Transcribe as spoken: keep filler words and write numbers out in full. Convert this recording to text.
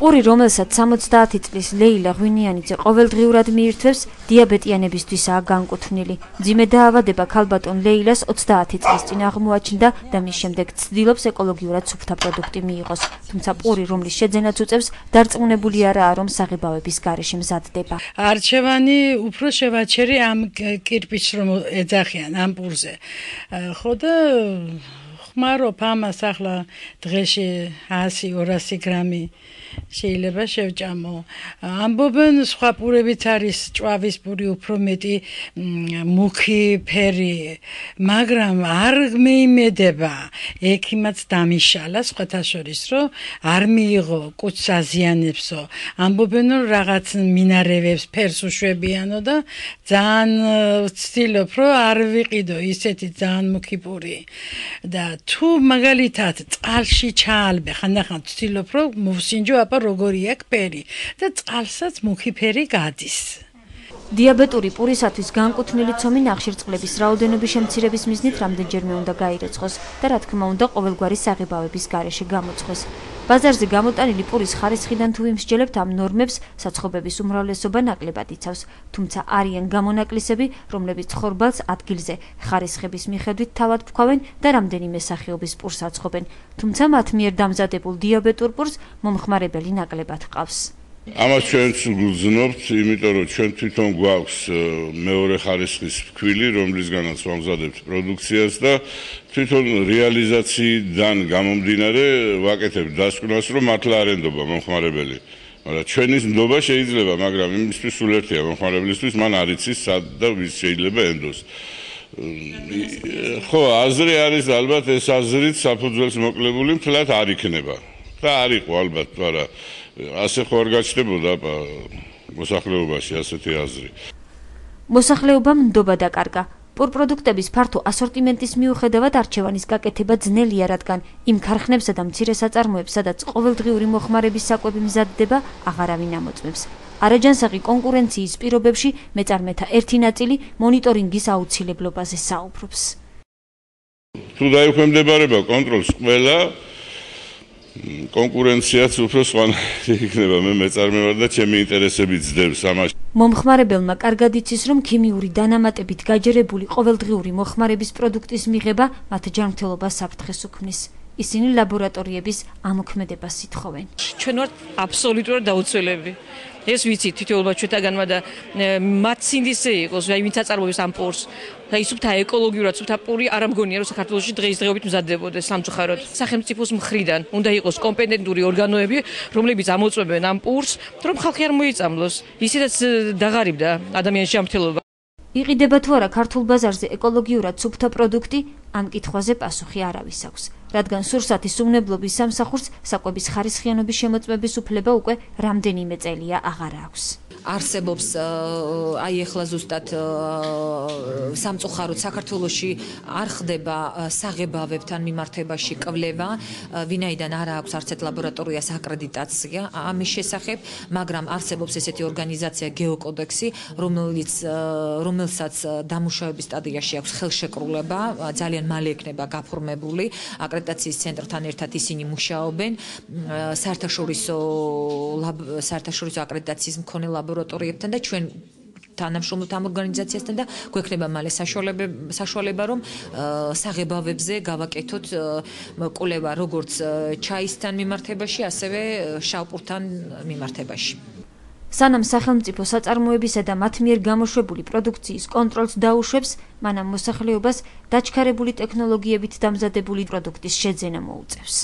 პური, რომელსაც სამოცდაათი წლის ლეილა ღვინიანიძე ყოველდღიურად მიირთვევს, დიაბეტიანებისთვისაა განკუთვნილი. მძიმე დაავადება ქალბატონ ლეილას ოცდაათი წლის წინ აღმოაჩნდა და მის შემდეგ ცდილობს ეკოლოგიურად სუფთა პროდუქტი მიიღოს. თუმცა პური, რომლის შეძენაც უწევს, დარწმუნებული არაა, რომ საღებავების გარეშე მზადდება. არჩევანი უფრო შევაჩერი ამ კირპიჩს, რომ ეძახიან ამ პურზე. ხო და ხმარობ ამას ახლა დღეში ასი ორასი გრამი შეიძლება შევჭამო. ამბობენ სხვა პურებიც არის ჭვავის პური უფრო მეტი მუქი ფერი, მაგრამ არ მეიმედება. ექიმაც დამიშალა სხვათა შორის, რომ არ მიიღო კუჭს აზიანებსო. ამბობენ რომ რაღაც მინარევებს ფერს უშვებიანო და ძალიან ვცდილობ რომ არ ვიყიდო ისეთი ძალიან მუქი პური. და თუ მაგალითად წყალში ჩაალბე, ხანდახან ვცდილობ რომ მოვსინჯო აბა როგორი აქვს ფერი და წყალსაც მუქი ფერი გადის. დიაბეტური პურისათვის განკუთვნილი ცომი ნახშირწყლების რაოდენობის შემცირების მიზნით რამდენჯერმე უნდა გაირეცხოს და რა თქმა უნდა ყოველგვარი საღებავების გარეშე გამოწვეს. ბაზარზე გამოტანილი პურის ხარისხიდან თუ ვიმსჯელებთ, ამ ნორმებს საცხობების უმრავლესობა ნაკლებად იცავს, თუმცა არიან გამონაკლისები, რომლებიც ხორბალს ადგილზე ხარისხების მიხედვით თავად ვქავენ და რამდენიმე სახეობის პურს აცხობენ, თუმცა მათ მიერ დამზადებულ დიაბეტურ პურს მომხმარებელი ნაკლებად ჰყავს. ამას ჩვენც გვგზნობთ, იმიტომ რომ ჩვენ თვითონ გვაქვს მეორე ხარისხის ფქვილი, რომლისგანაც ვამზადებთ პროდუქციას და თვითონ რეალიზაციიდან გამომდინარე ვაკეთებთ დასკვნას, რომ მართლა არ ენდობა მომხმარებელი. მაგრამ ჩვენის ნდობა შეიძლება, მაგრამ იმისთვის სულ ერთია მომხმარებლისთვის, მან არ იცის სად და ვის შეიძლება ენდოს. ხო, აზრი არის ალბათ, ეს აზრით საფუძველს მოკლებული მთლად არ იქნება. და არ იყო ალბათ, მაგრამ ასე ხო არ გაჩნდებოდა მოსახლეობაში ასეთი აზრი. მოსახლეობამ ნდობა დაკარგა. პურპროდუქტების ფართო ასორტიმენტის მიუხედავად არჩევანის გაკეთება ძნელია, რადგან იმ ქარხნებსა და მცირე საწარმოებს, სადაც ყოველდღიური მოხმარების საკვები მზადდება, აღარავინ ამოწმებს. არაჯანსაღი კონკურენციის პირობებში მეწარმეთა ერთი ნაწილი მონიტორინგის აუცილებლობაზე საუბრობს. თუ დაექვემდებარება კონტროლს ყველა კონკურენციაც უფრო სხვანაირი იქნება. მე მეწარმე ვარ და ჩემი ინტერესები ძდებს ამაში. მომხმარებელმა კარგად იცის, რომ ქიმიური დანამატებით გაჯერებული ყოველდღიური მოხმარების პროდუქტის მიღება მათ ჯანმრთელობას საფრთხეს უქმნის. ისინი ლაბორატორიების ამოქმედებას ითხოვენ. ჩვენ ვართ აბსოლუტურად დაუცველები. ეს ვიცით თითოეულმა ჩვენთაგანმა და მათ სინდისე იყოს, აი ვინც აწარმოებს ამ პურს. და ის სუფთა ეკოლოგიურად სუფთა პური არ ამგონია, რომ საქართველოში დღეისდღეობით მზადდებოდეს სამწუხაროდ. სახელმწიფოს მხრიდან უნდა იყოს კომპეტენტური ორგანოები, რომლებიც ამოწმებენ ამ პურს, რომ ხალხი არ მოიწამლოს. ისედაც დაღარიბდა ადამიანის ჯანმრთელობა. იყიდება თუ არა ქართულ ბაზარზე ეკოლოგიურად სუფთა პროდუქტი, ამ კითხვაზე პასუხი არავის აქვს, რადგან სურსათის უმნებლობის სამსახურს საკვების ხარისხიანობის შემოწმების უფლება უკვე რამდენიმე წელია აღარ აქვს. არსებობს აი ახლა ზუსტად სამწუხაროდ საქართველოში არ ხდება საღებავებთან მიმართებაში კვლევა, ვინაიდან არ აქვს არც ერთ ლაბორატორიას აკრედიტაცია ამის შესახებ, მაგრამ არსებობს ესეთი ორგანიზაცია გეოკოდექსი, რომელიც რომელსაც დამუშავების სტადიაში აქვს ხელშეკრულება, ძალიან მალე იქნება გაფორმებული, აკრედიტაციის ცენტრთან ერთად ისინი მუშაობენ, საერთაშორისო საერთაშორისო აკრედიტაციის მქონე ლაბორატორიებთან და ჩვენ თანამშრომლობთ ამ ორგანიზაციასთან და გვექნება მალე საშუალება, რომ საღებავებზე გავაკეთოთ კვლევა როგორც ჩაისთან მიმართებაში, ასევე შავპურთან მიმართებაში. სანამ სახელმწიფო საწარმოებისა და მათ მიერ გამოშვებული პროდუქციის კონტროლს დაუშვებს, მანამ მოსახლეობას დაჩქარებული ტექნოლოგიებით დამზადებული პროდუქტის შეძენა მოუწევს.